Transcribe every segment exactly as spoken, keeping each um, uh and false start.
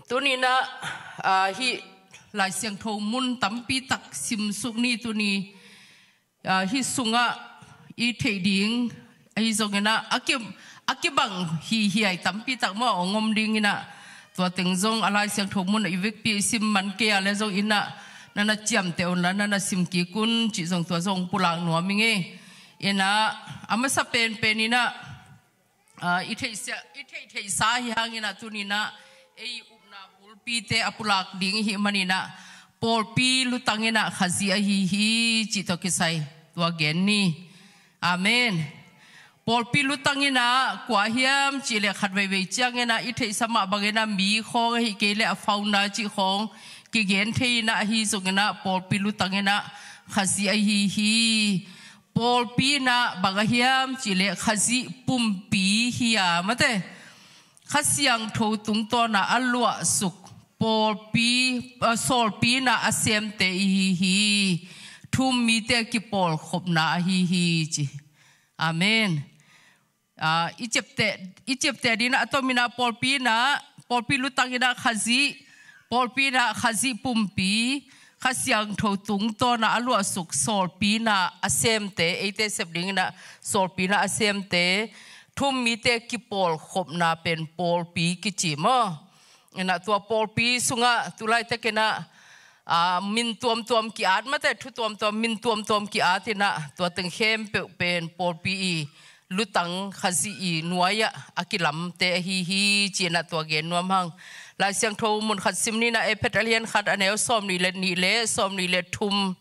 Tuninah, ah, hih Lai Siangtho mun tampi tak simsuk ni tuni, ah, hih sungah i theih ding ahi zonginah a ki, a kibang hihiai tampi tak maw hong om dinginah, tua teng zong a Lai Siangtho mun i vekpi i sim man kei a le zonginah na na ciamteh unla na na sim kik un cih zong tua zong pulak nuam i ngei. Inah a masa penpen inah, ah, i theihsa, i theihtheihsa hi hanginah tuninah ei upna bulpite a pulak ding i hih maninah pawlpi lutanginah Khazih ahi hi cih tawh kisai tua gen ni. Amen. Pawlpi lutanginah kua hiam cihleh khat veivei cianginah i theihsa mah banginah mi khawng ahi kei leh a founder cih khawng kigen thei inah ahi zonginah pawlpi lutanginah Khazih ahi hi. Pawlpi inah bang a hiam cihleh Khazih pumpi hi a mate. Kha Siangtho tungtawna a luahsuk pawlpi, ah, sawlpi inah a semte i hi hi. Thu-um mite a kipawlkhopna ahi hi ci. Amen. Ah, i ciapteh, i ciapteh dinah a tominah pawlpi inah, pawlpi lutanginah Khazih, pawlpi inah Khazih pumpi, Kha Siangtho tungtawna a luahsuk sawlpi inah a semte, eite sep dinginah sawlpi inah a semte, thu-um mite kipawlkhopna pen pawlpi kici maw. Inah tua pawlpi sungah tulaitakinah, ah, min tuamtuam ki-at mate, thu tuamtuam, min tuamtuam ki-at inah tua teng khempeuh pen pawlpi i lutang Khazih i nuai-ah a kilamte ahi hi ci inah tua gen nuam hang. Lai Siangtho mun khat sim ninah Efet a lian khat a neu sawmnih le nih le sawmnih le thum.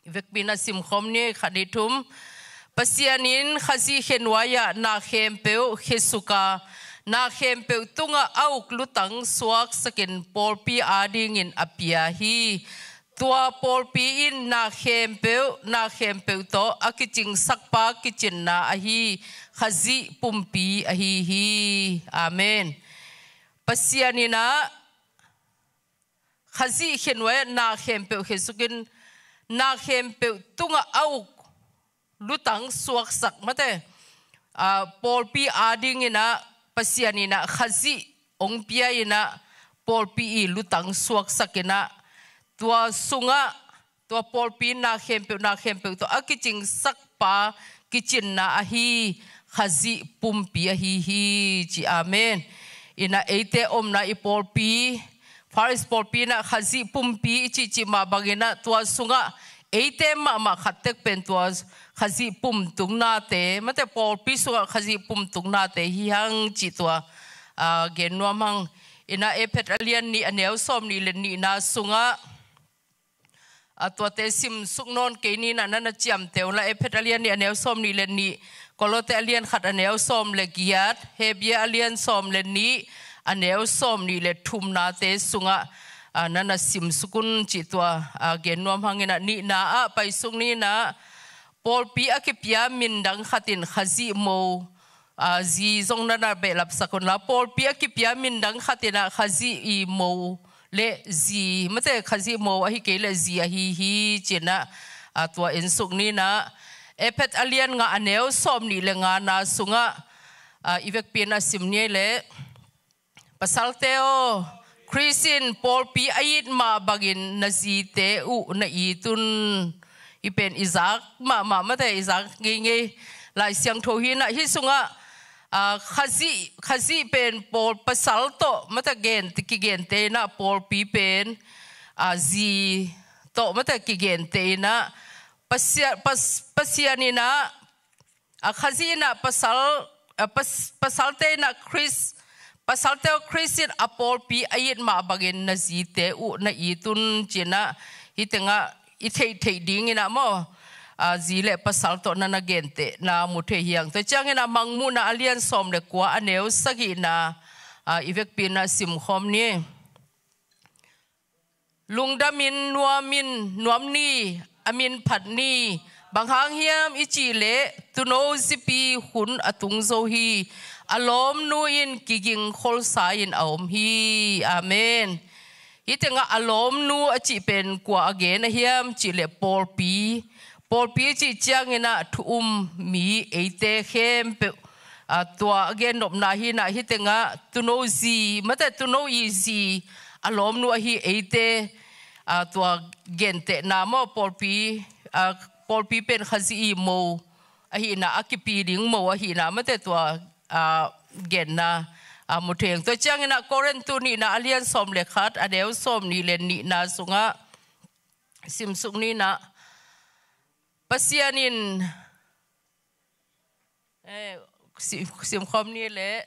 Vekpi inah simkhawm ni, khat nih thum. Pasian in Khazih khe nuai-ah na khempeuh khe suk a, na khempeuh tungah a uk lutang suaksakin pawlpi adingin a pia hi. Tua pawlpi in na khempeuh, na khempeuh tawh a kicingsakpa kicinna ahi Khazih pumpi ahi hi. Amen. Pasian inah Khazih khe nuai-ah na khempeuh khe sukin na khempeuh tungah a uk lutang suaksak mate. Ah, pawlpi adinginah Pasian inah Khazih hong pia inah pawlpi i lutang suaksakinah tua sungah tua pawlpi na khempeuh, na khempeuh tawh a kicingsakpa kicinna ahi Khazih pumpi ahi hi ci. Amen. Inah eite omna i pawlpi, Far East pawlpi inah Khazih pumpi i cihcih mah banginah tua sungah eite mahmah khat tek pen tua Khazih pumtungnate mate, pawlpi sungah Khazih pumtungnate hi hang cih tua, ah, gen nuam hang. Inah Efet a lian nih a neu sawmnih le nihna sungah, a tuate simsuk nawn kei ninah na na ciamteh unla, Efet a lian nih a neu sawmnih le nih, Kolose a lian khat a neu sawm le giat, Hebru a lian sawm le nih a neu sawmnih le thumnate sungah, ah, na na simsuk un cih tua, ah, gen nuam hanginah nihna ah paisuk ninah pawlpi a kipia mindang khatin Khazih mo, ah, zi zong na na behlapsak unla, pawlpi a kipia mindang khatinah Khazih i mo le zi mate, Khazih mo ahi kei le zi ahi hi cinah, ah, tua ensuk ninah Efet a lian nga a neu sawmnih le ngana sungah, ah, i vekpi inah sim ni le. Pasalte aw, Khrist in pawlpi a it mah bangin na zite uh na it un. Hih pen i zak mahmah mate, i zak ngeingei Lai Siangtho hinah hih sungah, ah, Khazih, Khazih pen pawl pasal tawh mate gen, kigente inah pawlpi pen, ah, zi tawh mate kigente inah Pasia-, Pas-, Pasian inah, ah, Khazih inah pasal, ah, pas-, pasalte inah Khrist, pasalte aw, Khrist in a pawlpi a it mah bangin na zite uh na it un cinah hih tengah i theihtheih dinginah maw, ah, zi le pasal tawh na na gentehna mu thei hi hang. Tua cianginah Mangmuhna a lian sawm le kua a neu sagihna, ah, i vekpi inah simkhawm ni. Lungdamin nuamin nuam ni, a min phat ni. Bang hang hiam i cih leh tuuno zipi hun a tung zo hi. A lawmnu in kiging kholsa in a om hi. Amen. Hih tengah a lawmnu a cih pen kua a gen a hiam cih leh pawlpi. Pawlpi cih cianginah thu-um mi eite khempeuh Tua a gennopna hi inah, hih tengah tuuno zi, mate tuuno i zi a lawmnu ahi eite, tua gentehna maw, pawlpi, pawlpi pen Khazih i mo ahi inah, a kipi ding mo ahi inah, mate tua genna mu thei ing. Tua ciang inah Korintu nihna a lian sawm le khat, a neu sawm nih le nihna sungah simsuk ni inah, Pasian in, simkhawm ni le,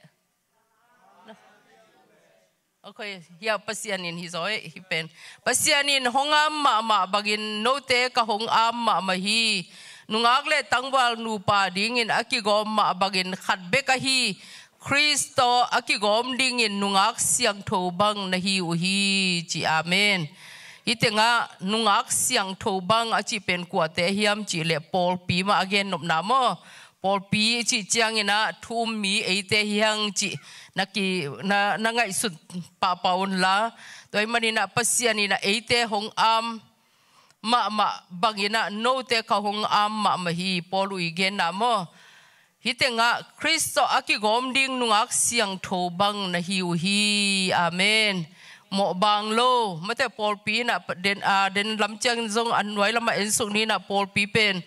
okay, hia Pasian in hi zaw hi pen. Pasian in hong am mahmah bangin note ka hong am mahmah hi. Nungak le tangval nupa dingin a kigawm mah bangin khat bek ahi Khrist tawh a kigawm dingin nungak siangtho bang na hi uh hi, ci. Amen. Hih tengah nungak siangtho bang a cih pen kuate hiam cih leh pawlpi mah a gennopna maw. Pawlpi i cih ciang inah thu um mi eite hi hang cih na ki, na, na ngaihsut pahpah unla. Tua ahih man inah Pasian inah eite hong am mahmah bang inah note ka hong am mahmah hi, Paul uh i genna maw. Hih tengah Khrist tawh a kigawm ding nungak siangtho bang na hi uh hi. Amen. Mawh bang lo, mate pawlpi inah den, den lam ciang zong a nuai lamah ensuk ni inah pawlpi pen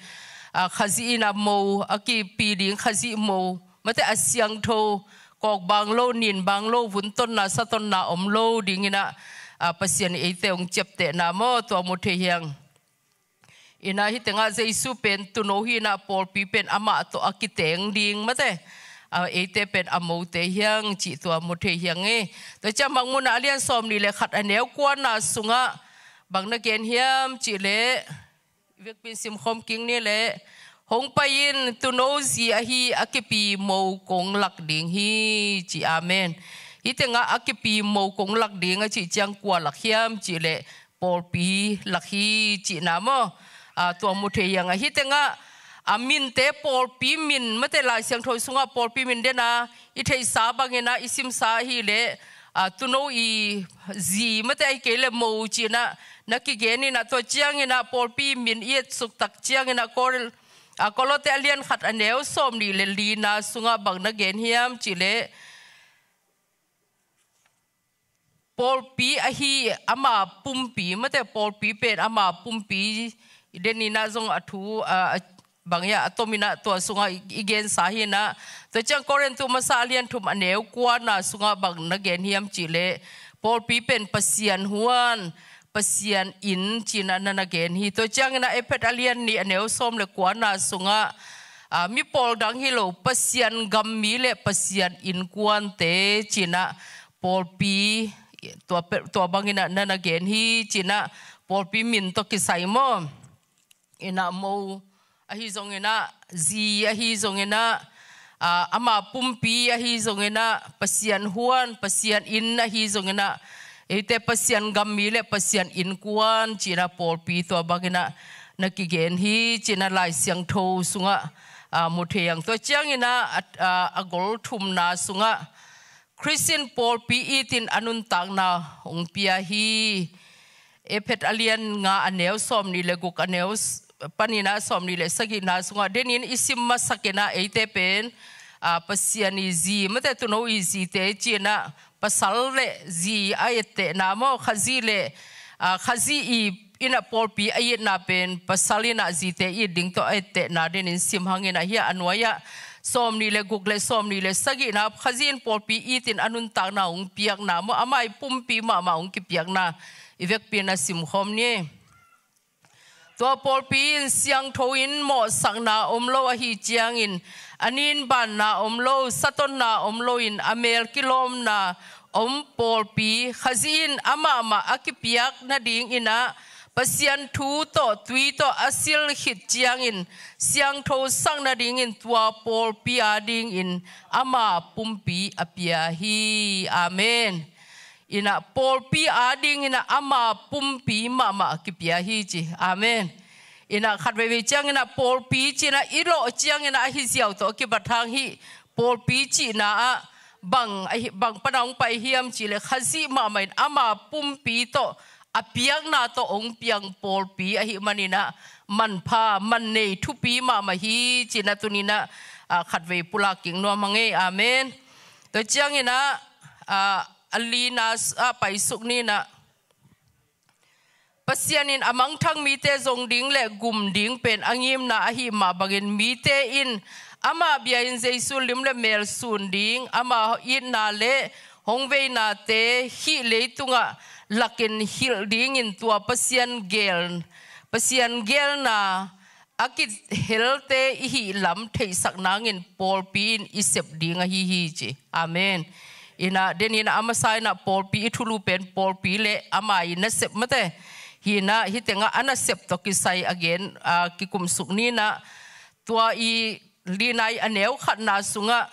Khazih inah mo, a kipi ding Khazih mo, mate a siangtho, kawk bang lo, nin bang lo, vuntonna satonna om lo ding inah Pasian in eite hong ciaptehna maw, tua mu thei hi hang. Inah hih tengah Jesu pen tuuno hi inah pawlpi pen amah tawh a kiteng ding, mate eite pen a mote hi hang cih tua mu thei hi hang e. Tua ciang Mangmuhna a lian sawm nih le khat, a neu kuana sungah bang na gen hiam cih leh, vekpi in simkhawm kik ni leh, hong pai in, tuuno zi ahi a kipi mo kong lak ding hi, ci. Amen. Hih tengah a kipi mo kong lak ding a cih ciang kua lak hiam cih leh pawlpi lak hi cihna maw. Tua mu thei hi hang a, hih tengah a minte, pawlpi min, mate Lai Siangtho sungah pawlpi min den a i theihsa bang inah i simsa ahih leh tuuno i zi, mate ahih kei leh mo ci inah na kigen inah, tua ciang inah pawlpi min i etsuk tak ciang inah Kol, Kolose a lian khat a neu sawm nih le lina sungah bang na gen hiam cih leh, pawlpi ahi ama pumpi, mate pawlpi pen ama pumpi, den inah zong a thu bang hiam, a tom inah tua sungah i gensa hi inah. Tua ciang Korintu masa a lian thum a neu kuana sungah bang na gen hiam cih leh, pawlpi pen Pasian huan, Pasian inn ci inah na na gen hi. Tua ciang inah Efesa a lian nih a neu sawm le kuana sungah mi pawl dang hi lo, Pasian gam mi le Pasian innkuante ci inah pawlpi tua bang inah na na gen hi ci inah pawlpi min tawh kisai maw. Inah mo ahi zong inah, zi ahi zong inah, ama pumpi ahi zong inah, Pasian huan, Pasian inn ahi zong inah, eite Pasian gam mi le Pasian innkuan ci inah pawlpi tua bang inah na kigen hi ci inah Lai Siangtho sungah mu thei hi hang. Tua ciang inah a gol thumna sungah Khrist in pawlpi it in a nuntakna hong pia hi. Efesa a lian nga a neu sawm nih le guk, a neu panin ah sawm nih le sagihna sungah den in i sim masak inah eite pen Pasian i zi, mate tuuno i zite ci inah pasal le zi a ettehna maw, Khazih le Khazih i inah pawlpi a itna pen pasal inah zite it ding tawh a ettehna den in sim hang inah, hia a nuai ah sawm nih le guk le sawm nih le sagihna, Khazih in pawlpi it in a nuntakna hong piakna maw, ama i pumpi mahmah hong kipiakna i vekpi inah simkhawm ni. Tua pawlpi in siangtho in mawhsakna om lo ahi ciangin, a nin banna om lo, satonna om loin a mel kilawmna om pawlpi, Khazih in amahmah a kipiak nading inah Pasian thu tawh tui tawh a sil khit ciangin siangtho sak nadingin tua pawlpi adingin ama pumpi a pia hi. Amen. Inah pawlpi ading inah ama pumpi mahmah kipia hi ci. Amen. Inah khat veivei ciang inah pawlpi ci inah i lawh ciang inah ahi ziau tawh a kibat hang hih pawlpi cihna ah bang, bang pana hong pai hiam cih leh Khazih mahmah in ama pumpi tawh a piakna tawh hong piang pawlpi ahih man inah manpha, mannei thupi mahmah hi ci inah tuni inah ah, khatvei pulak kik nuam hang ei. Amen. Tua ciangin ah, ah, a lina s-, ah, paisuk ni in ah, Pasian in a mangthang mite zong ding le gum ding pen a ngimna ahih mah bangin mite in ama bia-in Jesu lim le mel sun ding, ama itna le hong veinate hih leitungah lakin hilh dingin tua Pasian gel, Pasian gelna a kihelte i hih lam theihsak nangin pawlpi in i sep ding ahi hi ci. Amen. In ah, den in ah a masa in ah pawlpi i thulu pen pawlpi le ama i nasep mate. Hi in ah, hih tengah a nasep tawh kisai a gen, ah, kikumsuk ni in ah, tua i lina i a neu khatna sungah,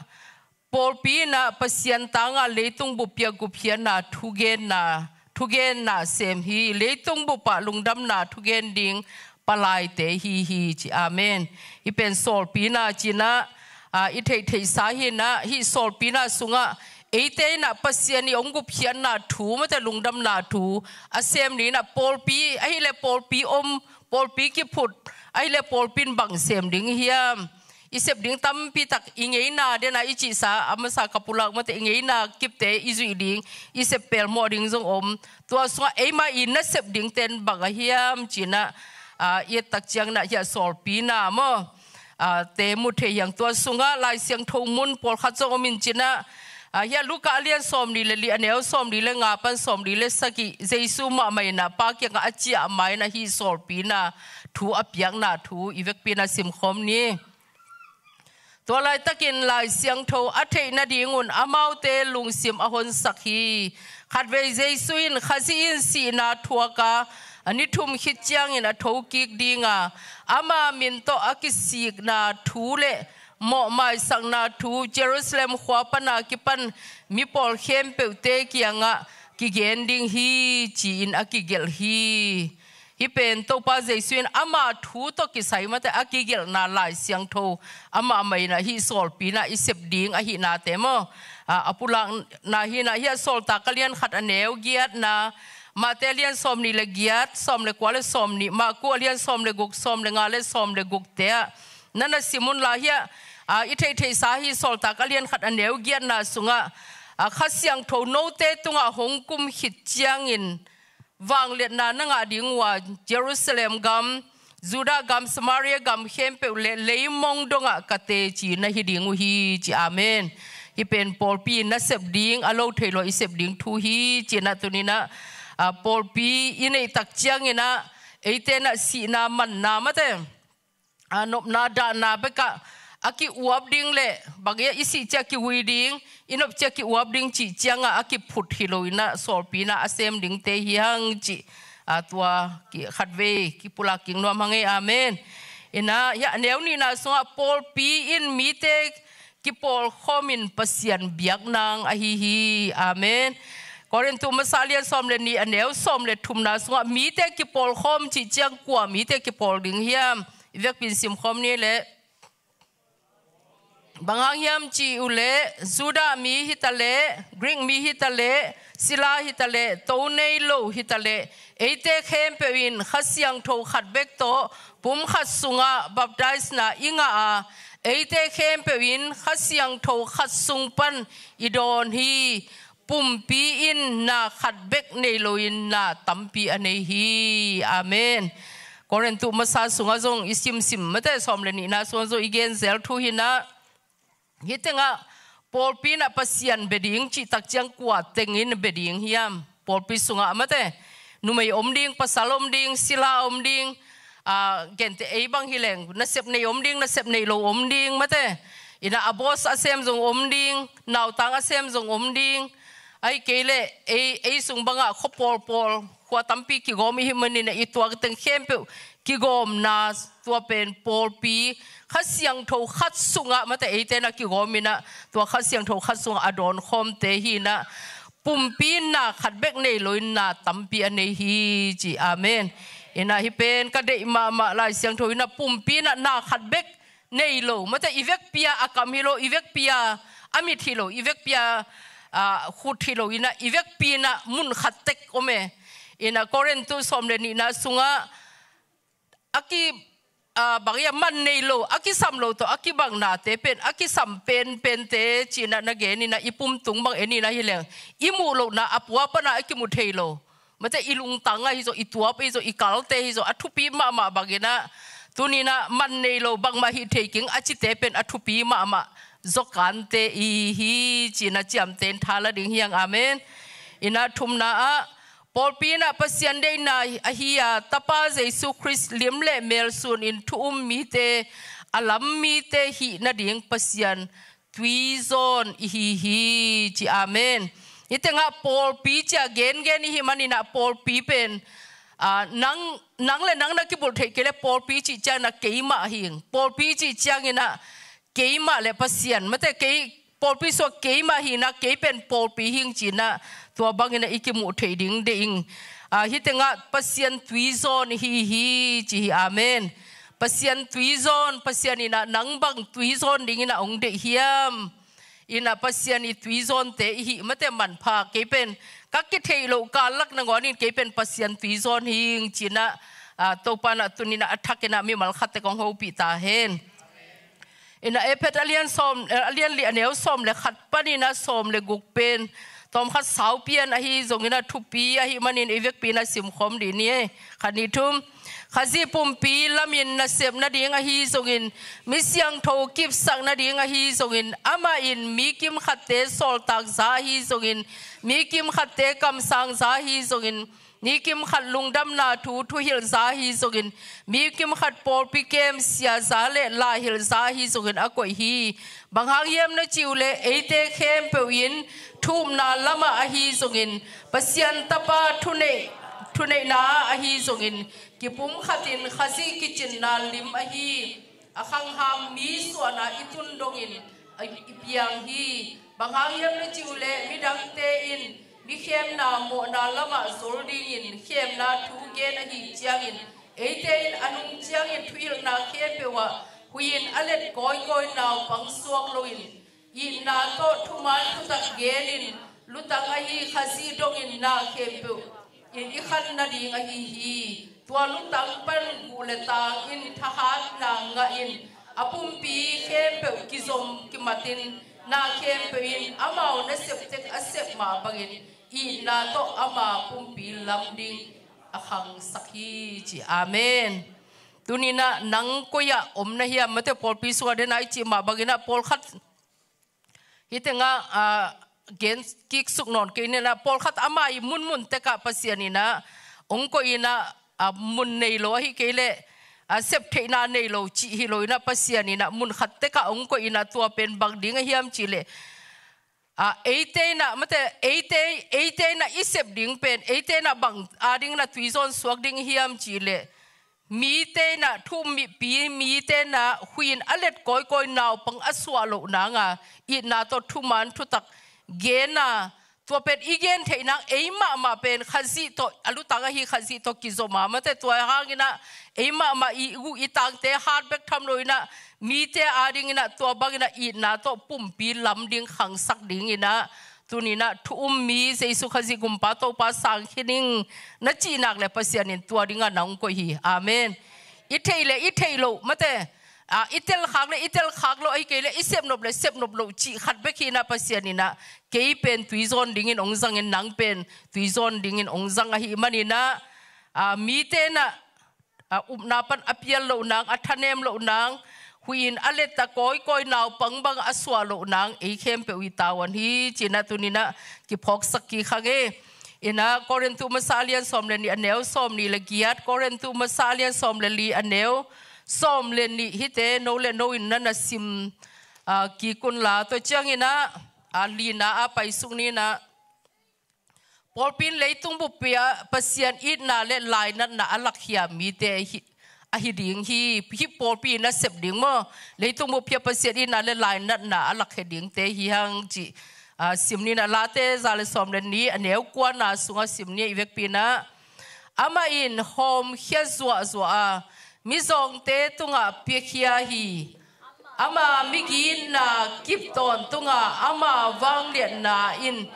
pawlpi in ah Pasian tangah leitung bup pia gupkhiatna thugenna, thugenna sem hi, leitung bupah lungdamna thugen ding palaite hi hi ci. Amen. Hih pen sawlpina ci in ah, ah, i theihtheihsa hi in ah, hih sawlpina sungah eite in ah Pasian i hong gupkhiatna thu mate, lungdamna thu a sem ni in ah, pawlpi ahih leh pawlpi om, pawlpi kiphut ahih leh pawlpi in bang sem ding hiam? I sep ding tampi tak, i ngeina den ah i cihsa, a masa ka pulak mate, i ngeina kipte i zuih ding, i sep pelmawh ding zong om. Tua sungah eima i nasep dingten bang a hiam ci in ah, ah, i et tak ciangin ah hih a sawlpina maw, ah, te mu thei hi hang. Tua sungah Lai Siangtho mun pawlkhat zong om in ci in ah, ah, hih a Luka a lian sawmli le li, a neu sawmli le nga pan sawmli le sagih, Jesu mahmah in ah Pa kiangah a ciah ma in ah hih sawlpina thu a piakna thu i vekpi in ah simkhawm ni. Tua laitakin Lai Siangtho a theih nadingun amaute lungsim a honsak hi. Khatvei Jesu in Khazih in sihna thuak a, a ni thum khit ciangin a thokik ding a, ama min tawh a kisikna thu le mawhmaisakna thu Jerusalem khua pana kipan mipawl khempeuhte kiangah kigen ding hi ci-in a kigelh hi. Hih pen Topa Jesu in ama thu tawh kisai mate a kigelhna Lai Siangtho amah mah in ah hih sawlpina i sep ding ahihnate maw, a, a pulakna hi in ah, hih a Sawltak a lian khat a neu giatna, Mate a lian sawmnih le giat, sawm le kua le sawmnih, Marku a lian sawm le guk, sawm le nga le sawm le gukte ah na na sim unla, hih a, a, i theihtheihsa hih Sawltak a lian khat a neu giatna sungah, a, Kha Siangtho note tungah hong kum khit ciangin vangliatna na ngah ding uh a, Jerusalem gam, Judah gam, Samaria gam khempeuh le leimong dongah ka teci na hi ding uh hi, ci. Amen. Hih pen pawlpi in na sep ding, a lo thei lo i sep ding thu hi, ci-in ah tuni-in ah, a, pawlpi i neih tak ciangin ah eite in ah sihna manna mate, a, nopna dahna bekah a ki-uap ding le bang hiam, i sih ciang a ki-ui ding, i nop ciang a ki-uap ding cih ciangah a kiphut hi lo-in ah, sawlpi in ah a sem dingte hi hang cih, a, tua ki, khatvei kipulak kik nuam hang ei. Amen. In ah, hih a neu nihna sungah pawlpi in mite kipawlkhawmin Pasian biak nang ahi hi. Amen. Korintu masa a lian sawm le nih a neu sawm le thumna sungah mite kipawlkhawm cih ciang kua mite kipawl ding hiam? I vekpi in simkhawm ni leh. Bang hang hiam cih uh leh, Judah mi hi ta leh, Greek mi hi ta leh, sila hi ta leh, to nei lo hi ta leh, eite khempeuh in Kha Siangtho khat bek tawh pum khat sungah baptisena i ngah a, eite khempeuh in Kha Siangtho khat sung pan i dawn hi. Pumpi in na khat bek nei loin na tampi a nei hi. Amen. Korintu masa sungah zong i simsim mate, sawm le nihna sungah zong i genzel thu hi-in ah, hih tengah pawlpi in ah Pasian bia ding cih tak ciang kua tengin bia ding hiam? Pawlpi sungah mate, numei om ding, pasal om ding, sila om ding, a, gente ei bang hi leng, nasep nei om ding, nasep nei lo om ding mate. In ah a boss a sem zong om ding, nautang a sem zong om ding. Ahih kei leh ei, ei sung bangah khua pawlpawl, khua tampi kigawm i hih manin ah i tuak teng khempeuh kigawmna, tua pen pawlpi, Kha Siangtho khat sungah mate, eite in ah kigawm in ah, tua Kha Siangtho khat sungah a dawnkhawmte hi-in ah, pumpi in na khat bek nei loin na tampi a nei hi, ci. Amen. In ah hih pen ka deih mahmah, Lai Siangtho in ah pumpi in ah na khat bek nei lo mate, i vekpi-a a kam hi lo, i vekpi-a a mit hi lo, i vekpi-a, a, khut hi lo-in ah, i vekpi in ah mun khat tek om e. In ah Korintu sawm le nihna sungah a ki, ah, bang ia man nei lo, a kisam lo tawh a kibang nate pen a kisam penpente ci-in ah na gen in ah, i pum tung bang en in ah hi leng i muh lohna a pua pana a kimu thei lo. Mate, i lungtang ahi zaw, i tuap ahi zaw, i kalte ahi zaw, a thupi mahmah bangin ah, tuni-in ah man nei lo, bangmah hih thei keng a cite pen a thupi mahmah zawkante i hi hi ci-in ah ciamteh in tha la ding hi hang. Amen. In ah thumna ah, pawlpi in ah Pasian deihna ahi a, Tapa Jesu Khrist lim le mel sunin thu um mite, a lam mite hih nading Pasian tuizawn i hi hi ci. Amen. Hih tengah pawlpi ci-a gengen i hih manin ah pawlpi pen, ah, nang, nang le nang na kibulh theih kei leh pawlpi cih ciangin ah keimah hi ing. Pawlpi cih ciangin ah keimah le Pasian, mate, kei pawlpi sungah keimah hi-in ah kei pen pawlpi hi ing ci-in ah tua bangin ah i kimuh theih ding deih ing. Ah, hih tengah Pasian tuizawn i hi hi ci hi. Amen. Pasian tuizawn, Pasian in ah nang bang tuizawn dingin ah hong deih hiam? In ah Pasian i tuizawnte i hih, mate, manpha, kei pen ka kitheih loh kal lak nangawn in kei pen Pasian tuizawn hi ing ci-in ah, ah, Topa in ah tuni-in ah a thakin ah mimal khat tek hong hopih ta hen. In ah Efesa a lian sawm, eh, a lian li a neu sawm le khat panin ah sawm le guk pen tawmkhat saupi-in ahi zongin ah thupi ahih manin ei vekpi-in ah simkhawm dih ni. Khat, nih, thum. Khazih pumpi lamin nasep nading ahi zongin, mi siangtho kipsak nading ahi zongin, amah in mi kimkhatte sawltakza ahi zongin, mi kimkhatte kamsangza ahi zongin, mi kimkhat lungdamna thu thuhilhza ahi zongin, mi kimkhat pawlpi kem siaza le laihilhza ahi zongin a koih hi. Bang hang hiam na cih uh leh eite khempeuh in thu upna lamah ahi zongin, Pasian Tapa thuneih, thuneihna ahi zongin, kipumkhatin Khazih kicinna lim ahi a khangham mi suahna i tun dongin a i piang hi. Bang hang hiam na cih uh leh midangte in mi khemna mawhna lamah zol dingin khemna thu gen ahih ciangin, eite in a nung ciangin thuhilhna khempeuh ah huih in a let kawikawi naupang suak loin, itna tawh thuman thutak genin, lutang ahi Khazih dongin na khempeuh in i khan nading ahi hi. Tua lutang pan guh le tang in thahatna ngahin, a pumpi khempeuh kizom kimatin, na khempeuh in amau nasep tek a sep mah bangin itna tawh ama pumpi lam ding a khangsak hi ci. Amen. Tuni-in ah nang koi-ah om na hiam? Mate, pawlpi sungah den a i cih mah bangin ah pawlkhat hih tengah, ah, gen kik suk nawn kei ni-in ah, pawlkhat ama i munmun tekah Pasian in ah hong koih in ah, ah, mun nei lo ahih kei leh, ah, sep theihna nei lo cih hi lo in ah, Pasian in ah mun khat tekah hong koih in ah, tua pen bang ding a hiam cih leh, ah, eite in ah, mate, eite, eite in ah i sep ding pen, eite in ah bang adingin ah tuizawn suak ding hiam cih leh, mite in ah, thu um mihpi mite in ah huih in a let kawikawi naupang a suah loh nang a, itna tawh thuman thutak gen a, tua pen i gen theih nang, ei mahmah pen Khazih tawh, a lutang ahi Khazih tawh kizom a, mate, tua hangin ah ei mahmah i guh i tangte hat bek tham lo in ah, mite adingin ah tua bangin ah itna tawh pumpi lam ding khangsak dingin ah, tuni-in ah thu um mi Jesu Khazih Gumpa Topa sang khin ing na cih nak leh Pasian in tua dingin ah nang koih hi. Amen. I theih leh i theih loh, mate, ah, i telkhak leh i telkhak loh, ahih kei leh i sepnop leh sepnop loh cih khat bek hi-in ah, Pasian in ah kei pen tuizawn dingin hong zangin, nang pen tuizawn dingin hong zang ahih manin ah, ah, mite in ah, ah, upna pan a pial loh nang, a thanem loh nang, huih in a let a kawikawi naupang bang a suah loh nang, ei khempeuh i tavuan hi ci-in ah tuni-in ah kiphawksak kik hang e. In ah Korintu Masa a lian sawm le nih, a neu sawm nih le giat, Korintu Masa a lian sawm le li, a neu sawm le nih, hihte no le no in na na sim, ah, kik un la, tua ciangin ah, ah, lina ah paisuk ni-in ah, pawlpi in leitung bup-ah Pasian itna le lainatna a lakkhia mite hi, ahi ding hi. Hih pawlpi in a sep ding maw, leitung bup-ah Pasian itna le lainatna a lakkhia dingte hi hang cih, ah, sim ni-in ah, Late za le sawm le nih, a neu kuana sungah sim ni, i vekpi-in ah. Amah in hawmkhia zuahzuah a, mizawngte tungah piakhia hi. Ama migitna kip tawntungah ama vangliatna in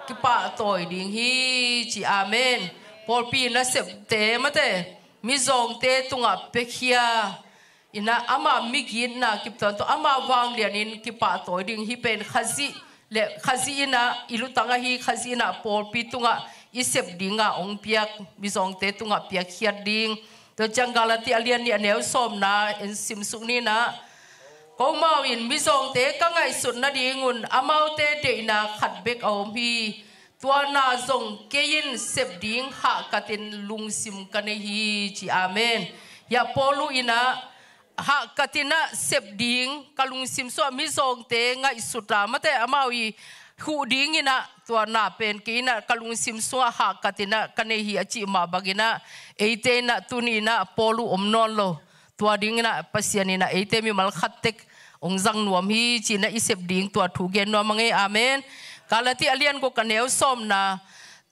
kipahtawi ding hi ci. Amen. Pawlpi nasepte, mate, mizawngte tungah piakhia, Inah ama migitna kiptuan tawh ama vanglianin kipahtawi ding hi pen Khazih le Khazih inah i lutang ahi Khazih inah pawlpi tungah i sep dinga hong piak mizawngte tungah piakkhiat ding. Tua ciang Galati a lian nih a neu sawmna en simsuk ninah, komau in mizawngte ka ngaihsut nadingun amaute deihna khat bek a om hi. Tua na zong kei in sep ding hahkatin lungsim ka nei hi ci. Amen. Hiah Paulu inah hahkatinah sep ding ka lungsim sungah mizawngte ngaihsuta mate amau i huh dinginah tua na pen kei inah ka lungsim sungah hahkatinah ka nei hi a cih mah banginah eite inah tuni inah Paulu om nawn lo. Tua dinginah Pasian inah eite mimal khattek hong zang nuam hi cinah i sep ding tua thu gen nuam a ngei. Amen. Galati a lian guk a neu sawmna,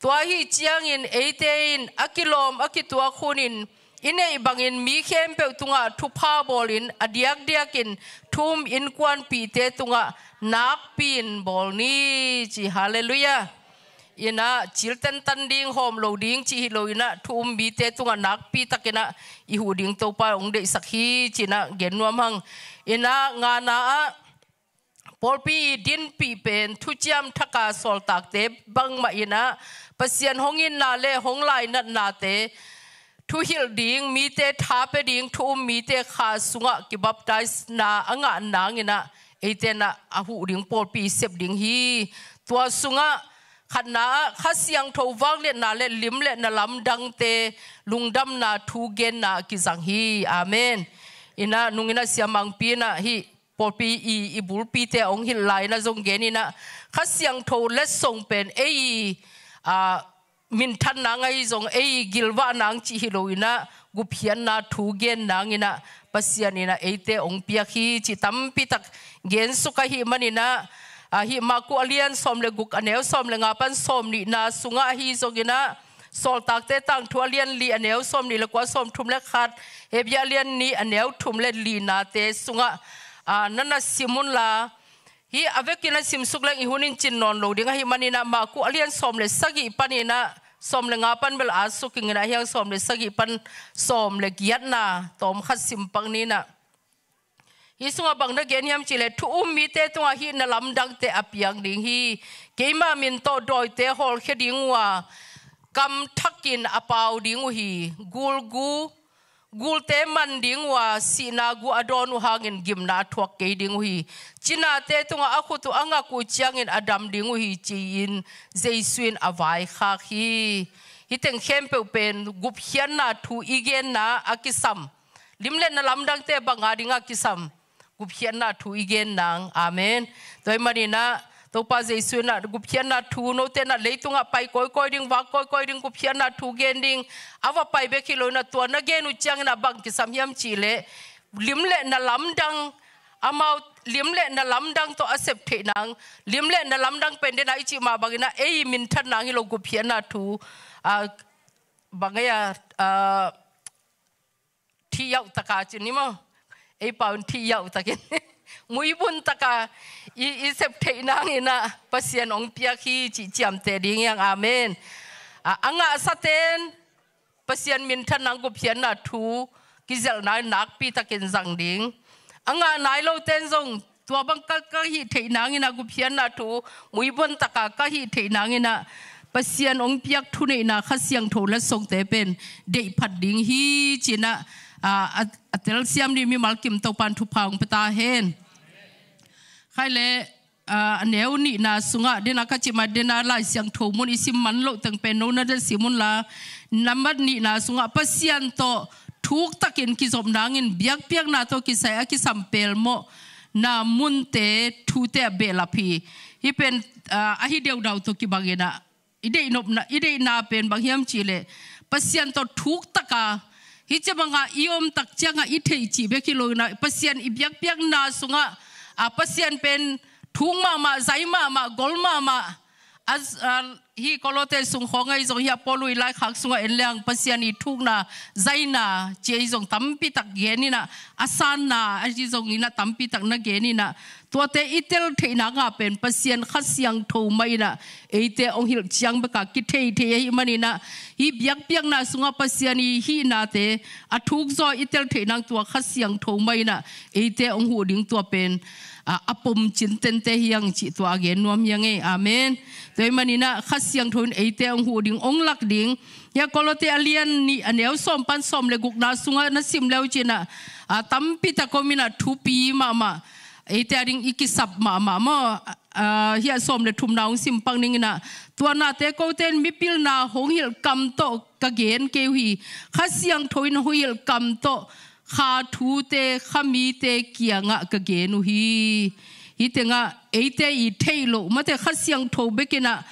tua ahi ciangin eite in a kilawm a kituak hunin i neih bangin mi khempeuh tungah thupha bawlin a diakdiakin thu-um innkuanpihte tungah nakpi-in bawl ni ci. Halleluiah. Inah cil tentan ding hawm lo ding cih hi lo inah thu-um mite tungah nakpi takinah i huh ding Topa hong deihsak hi cinah gen nuam hang. Inah ngana ah pawlpi i dinpih pen thuciam thaka sawltakte bangmah inah Pasian hong itna le hong lainatnate thuhilh ding, mite tha pia ding, thu-um mite kha sungah kibaptisena a ngah nanginah eite inah a huh ding pawlpi i sep ding hi. Tua sungah khatna ah Kha Siangtho vangliatna le lim le na lamdangte lungdamna thu genna a kizang hi. Amen. Inah nung inah siamangpi inah hih pawlpi i, i bulpite a hong hilh lai inah zong gen inah Kha Siangtho letsong pen ei i, a, minthan nang ahi zong ei i gilvah nang cih hi lo inah gupkhiatna thu gen nanginah Pasian inah eite hong piak hi cih tampitak gensuk ahih maninah, a, hih Maku a lian sawm le guk a neu sawm le nga pan sawm nihna sungah ahi zonginah Sawltakte Tangthu a lian li a neu sawm nih le kua, sawm thum le khat, Hebru a lian nih a neu thum le linate sungah, a, na na sim unla, hih a vekin a simsuk leng i hun in cin nawn lo ding ahih maninah Maku a lian sawm le sagih paninah sawm le nga pan bel a suk inginah hiang sawm le sagih pan sawm le giatna tawm khat simpang ninah. Hih sungah bang na gen hiam cihleh thu-um mite tungah hih na lamdangte a piang ding hi. Keima min tawh dawite hawlkhia ding uh a, kamthakin a pau ding uh hi. Gulgu, gulte man ding uh a, sihna gu a dawn uh hangin gimna a thuak kei ding uh hi. Cinate tungah a khut uh a ngak uh ciangin a dam ding uh hi ci-in Jesu in a vaikhak hi. Hih teng khempeuh pen gupkhiatna thu i genna a kisam. Lim le na lamdangte banga dingah kisam gupkhiatna thu i gen nang. Amen. Tua ahih maninah Topa Jesu inah gupkhiatna thu, note inah leitungah pai kawikawi ding, vak kawikawi ding gupkhiatna thu gen ding, a va pai bek hi lo inah tua na gen uh cianginah bang kisam hiam cihleh lim le na lamdang, amau lim le na lamdang tawh a sep theih nang, lim le na lamdang pen dena i cih mah banginah ei i minthan nang hi lo gupkhiatna thu, a, bang ei a, a, thih yauh taka ci ni maw? Ei pau in thih yauh takin muibun taka i, i sep theih nanginah Pasian hong piak hi cih ciamteh ding hiang. Amen. A, a ngahsaten Pasian minthan nang gupkhiatna thu kizelhna in nakpi takin zang ding. A ngah nai loten zong tua bang ka, ka hih theih nanginah gupkhiatna thu muibun taka ka hih theih nanginah Pasian hong piak thuneihna Kha Siangtho letsongte pen deihphat ding hi cinah, a, a, a telsiam ding mimal kim Topan thupha hong pia ta hen. Khai le, a, a neu nihna sungah dena ka cih mah dena Lai Siangtho mun i sim man loh teng pen no na de sim unla, nambat nihna sungah Pasian tawh thuktakin kizop nangin biakpiakna tawh kisai a kisam pelmawh na munte thute a behlap hi. Hih pen, a, ahi deudau tawh kibanginah i deih nopna, i deihna pen bang hiam cihleh Pasian tawh thuktaka hih cia banga i omtak cianga i theih cih bek hi lo inah Pasian i biakpiakna sungah, a, Pasian pen thuk mahmah, zai mahmah, gol mahmah, a, a, Hih Kolose sung khawng ahi zong, hih a Paul' laikhak sungah en leng Pasian' thukna, zaina ci ahi zong tampi tak gen in ah, a sanna ahi zong in ah tampi tak na gen in ah, tuate i tel theihna ngah pen Pasian Kha Siangtho mah in ah eite hong hilh ciang bek a kithei thei ahih manin ah, hih biakpiakna sungah Pasian' hihnate a thuk zaw i tel theih nang tua Kha Siangtho mah in ah eite hong huh ding tua pen, a, a pom cintente hi hang cih tua a gen nuam hi hang e. Amen. Tua ahih manin ah Kha Siangtho in eite hong huh ding, hong lak ding. Hih a Kolose a lian nih a neu sawm pan sawm le gukna sungah na sim le uh cin ah, a, tampi tak om in ah, thupi mahmah. Eite a ding i kisap mahmah maw. A, hih a sawm le thumna hong sim pak ning in ah, tua nate kote in mipilna hong hilh kam tawh ka gen kei uh hi. Kha Siangtho in hong hilh kam tawh kha thute kha mite kiangah ka gen uh hi. Hih tengah eite i theih loh, mate, Kha Siangtho bek in ah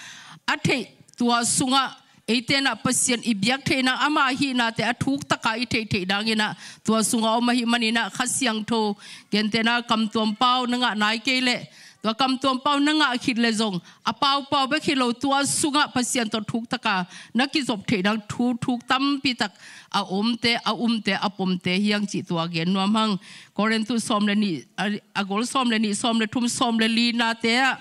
a theih, tua sungah eite in ah Pasian i biak theih nang, ama hihnate a thuk tak a i theih theih ding in ah tua sungah om ahih manin ah, Kha Siangtho, gentehna kamtuam pau na ngah nai kei leh, tua kamtuam pau na ngah khit le zong, a paupau bek hi lo, tua sungah Pasian tawh thuk tak a na kizop theih nang thu thuk tampi tak a omte, a umte, a pomte hi hang cih tua gen nuam hang. Korintu sawm le nih, a, a gol sawm le nih, sawm le thum, sawm le linate ah,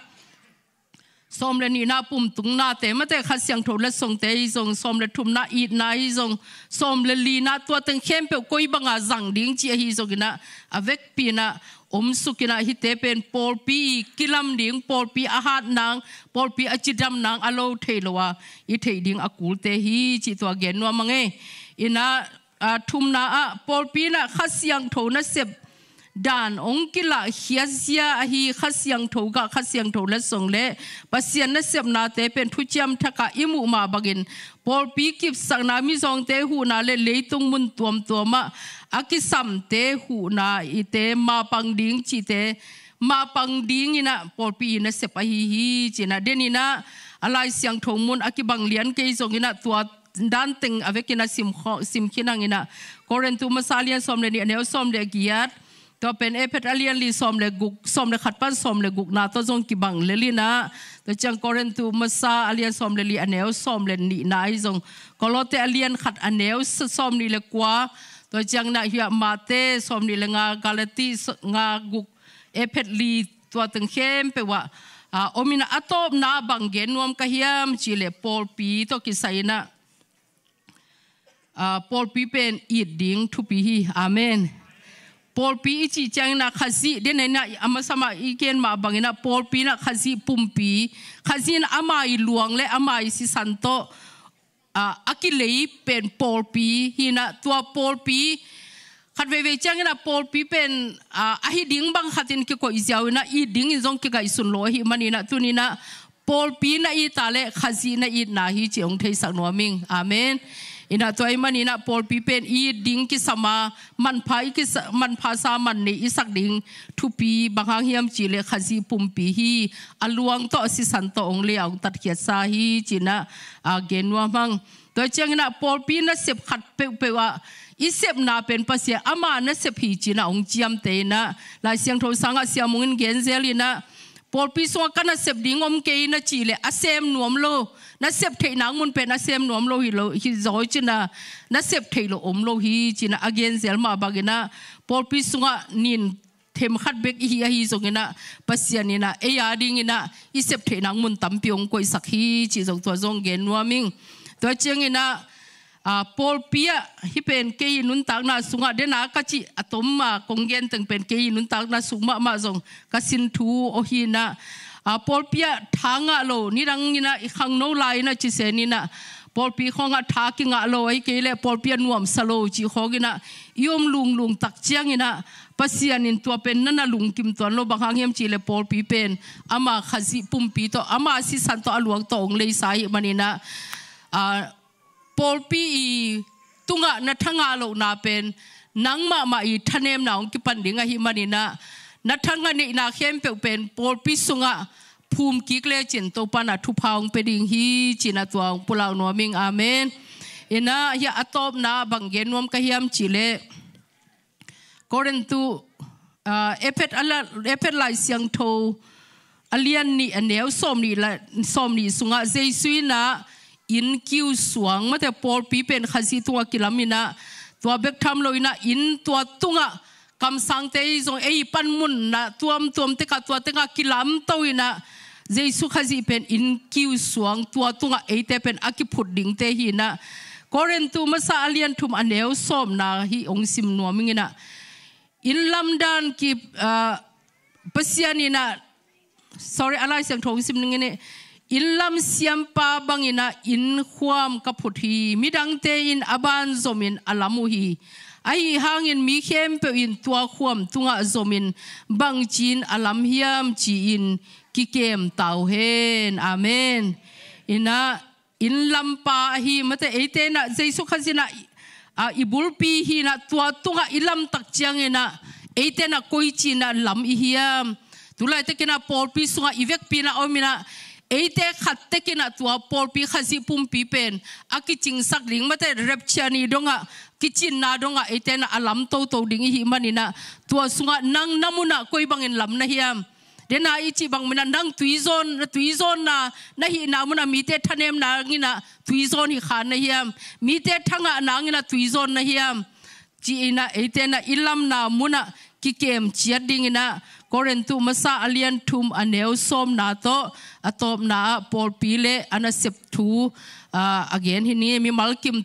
sawm le nihna pumtungnate, mate, Kha Siangtho letsongte hi zong, sawm le thumna itna hi zong, sawm le lina, tua teng khempeuh koi banga zang ding cih ahi zong in ah, a vekpi in ah om suk in ah, hihte pen pawlpi i kilam ding, pawlpi a hat nang, pawlpi a cidam nang a lo thei lo a i theih ding a kulte hi cih tua gen nuam hang e. In ah, a, thumna ah, pawlpi in ah Kha Siangtho nasep dan hong kilahkhiat zia ahi Kha Siangtho gah, Kha Siangtho letsong le Pasian nasepnate pen Thuciam Thak ah i muh mah bangin, pawlpi kipsakna, mizawngte huhna le leitung mun tuamtuam ah a kisamte huhna, ite mapang ding cihte mapang ding in ah pawlpi i nasep ahi hi cih in ah, den in ah a Lai Siangtho mun a kibang lian kei zong in ah, tua dan teng a vek in ah sim kho-, sim khin hang in ah, Korintu Masa a lian sawm le nih a neu sawm le giat, tua pen Efesa a lian li sawm le guk, sawm le khat pan sawm le gukna tawh zong kibang lel in ah, tua ciang Korintu Masa a lian sawm le li a neu sawm le nihna hi zong, Kolose a lian khat a neu sa-, sawm nih le kua, tua ciang in ah hih a Mate sawm nih le nga, Galati s-, nga guk, Efesa li, tua teng khempeuh ah, a, om in ah, a tawpna bang gen nuam ka hiam cih leh pawlpi tawh kisai in ah, a, pawlpi pen it ding thupi hi. Amen. Pawlpi i cih ciang in ah Khazih, den in ah a masa mah i gen mah bang in ah pawlpi in ah Khazih pumpi, Khazih in ah ama i luang le ama i sisan tawh, a, a kilei pen pawlpi hi in ah, tua pawlpi khat veivei ciang in ah pawlpi pen, a, ahi ding bang khat in kikoih ziau in ah, it ding in zong kingaihsun lo ahih manin ah, tuni in ah pawlpi na it a leh Khazih na itna hi cih hong theisak nuam ing. Amen. In ah tua ahih manin ah pawlpi pen it ding kisam a, manpha i kisa-, manpha sa, man nei i sak ding thupi, bang hang hiam cih leh Khazih pumpi hi, a luang tawh a sisan tawh hong lei a hong tatkhiatsa hi cih in ah, a, gen nuam hang. Tua ciang in ah pawlpi nasep khat peuhpeuh ah i sepna pen Pasian ama nasep hi cih in ah hong ciamteh in ah, Lai Siangtho sangah Sia Mung in gen zel in ah, pawlpi sungah ka nasep ding om kei na cih leh a sem nuam lo, nasep theih nang mun pen a sem nuam lo hi lo, hi zaw cih in ah nasep theih loh om lo hi cih in ah a gen zel mah bang in ah, pawlpi sungah nin them khat bek i hi ahi zong in ah, Pasian in ah ei a ding in ah i sep theih nang mun tampi hong koihsak hi cih zong tua zong gen nuam ing. Tua ciang in ah, a, pawlpi ah, hih pen kei i nuntakna sungah, den a ka cih a tom a kong gen teng pen kei i nuntakna sung mahmah zong ka sin thu aw hi in ah, a, pawlpi ah tha ngah lo, nidang in ah i khangno lai in ah cisen in ah, pawlpi khawng ah tha kingah lo, ahih kei leh pawlpi ah nuamsa lo cih khawng in ah i om lunglung tak ciang in ah, Pasian in tua pen na na lungkim tuan lo, bang hang hiam cih leh pawlpi pen ama Khazih pumpi tawh, ama sisan tawh, a luang tawh hong leisa ahih manin ah, a, pawlpi i tungah na tha ngah lohna pen nang mahmah i thanemna hong kipan ding ahih manin ah, na tha ngah neihna khempeuh pen pawlpi sungah phum kik lecin Topa in ah thupha hong pia ding hi cih in ah tua hong pulak nuam ing. Amen. In ah hih a tawpna bang gen nuam ka hiam cih leh, Korintu, a, Efesa la-, Efesa Lai Siangtho a lian nih a neu sawm nih, la, sawm nih sungah Jesu in ah inn kiu suang, mate pawlpi pen Khazih tungah kilam in ah, tua bek tham lo in ah inn tua tungah kamsangte zong ei panmun na tuamtuam tekah tua tengah kilamto in ah Jesu Khazih pen inn kiu suang, tua tungah eite pen a kiphut dingte hi in ah, Korintu masa a lian thum a neu sawmna hih hong sim nuam ing in ah, inn lamdan ki, ah, Pasian in ah, sorry, a Lai Siangtho hong sim ning in ah, inn lam siampa bang in ah inn khuam ka phut hi, midangte in a ban zom in a lam uh hi. Ahi hangin mi khempeuh in tua khuam tungah zom in bangci in a lam hiam ci-in kikem ta uh hen. Amen. In ah inn lampa ahi, mate eite in ah Jesu Khazih in ah, ah, i bulpi hi in ah, tua tungah i lamtak ciangin ah eite in ah koici in ah lam i hiam? Tulaitak in ah pawlpi sungah i vekpi in ah om in ah, eite khat tek in ah tua pawlpi Khazih pumpi pen a kicingsak ding, mate rapture ni dongah, kicinna dongah eite in ah a lam toto ding i hih man in ah, tua sungah nang na mun ah koi bangin lam na hiam? Dena i cih bang mun ah nang tuizawn, tuizawnna na hihna mun ah mite thanem nang in ah tuizawn hi kha na hiam? Mite thangah nang in ah tuizawn na hiam? Ci in ah eite in ah i lamna mun ah kikem ciat ding in ah, Korintu masa a lian thum a neu sawmna tawh a tawpna ah pawlpi le a nasep thu, ah, a gen hi ni. Mimal kim